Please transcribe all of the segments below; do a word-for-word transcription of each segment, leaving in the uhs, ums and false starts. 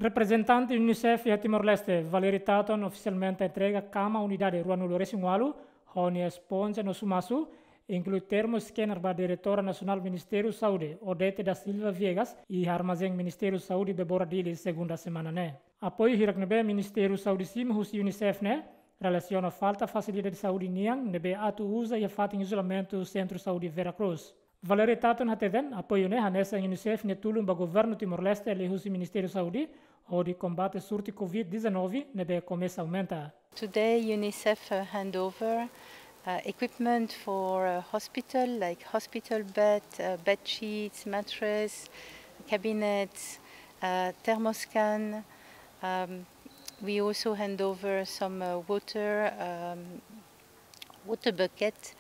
Reprezentante UNICEF iha Timor-Leste, Valerie Taton, ofisialmente entrega kama unidade ruanulu-resin-ualu, ho nia esponja no sumasu, inklui termoscanner ba Diretora Nasionál Ministériu Saúde, Odete da Silva Viegas, iha armazén Ministériu Saúde Bebora Dili, segunda semana ne'e. Apoiu hirak ne'ebé Ministériu Saúde simu husi UNICEF ne'e relasiona falta fasilidade saúde nian ne'ebé atu uza iha fatin izolamentu Sentru Saúde Vera Cruz. Valerie Taton hateten, apoiu ne'e hanesan UNICEF nia tulun ba Governu Timor-Leste liuhusi Ministériu Saúde, hodi kombate surtu Covid dezanove ne'ebé komesa aumenta. Today, UNICEF, uh, hand over, uh, equipment for, uh, hospital, like hospital bed, uh, bed sheets, mattress, cabinets, uh, thermoscan. Um, we also hand over some, uh, water, um, water bucket,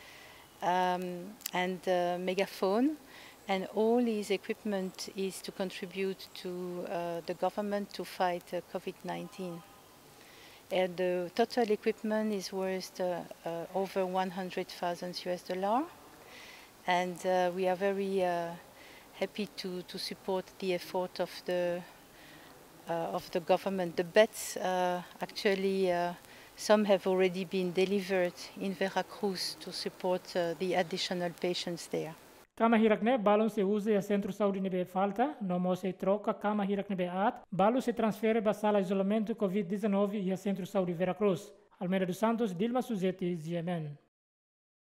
um, and, uh, megaphone. And all these equipment is to contribute to, uh, the government to fight, uh, Covid nineteen. And the total equipment is worth, uh, uh, over one hundred thousand U S dollar. And, uh, we are very, uh, happy to, to support the effort of the, uh, of the government. The beds, uh, actually, uh, some have already been delivered in Vera Cruz to support, uh, the additional patients there. Kama hirak ne'e balun sei uza iha Sentru Saúde ne'ebé falta, no mós sei troka kama hirak ne'ebé aat, balu sei transfere ba sala izolamentu Covid dezanove iha Sentru Saúde Vera Cruz. Almeida dos Santos, Dilma Suzeti, G M N.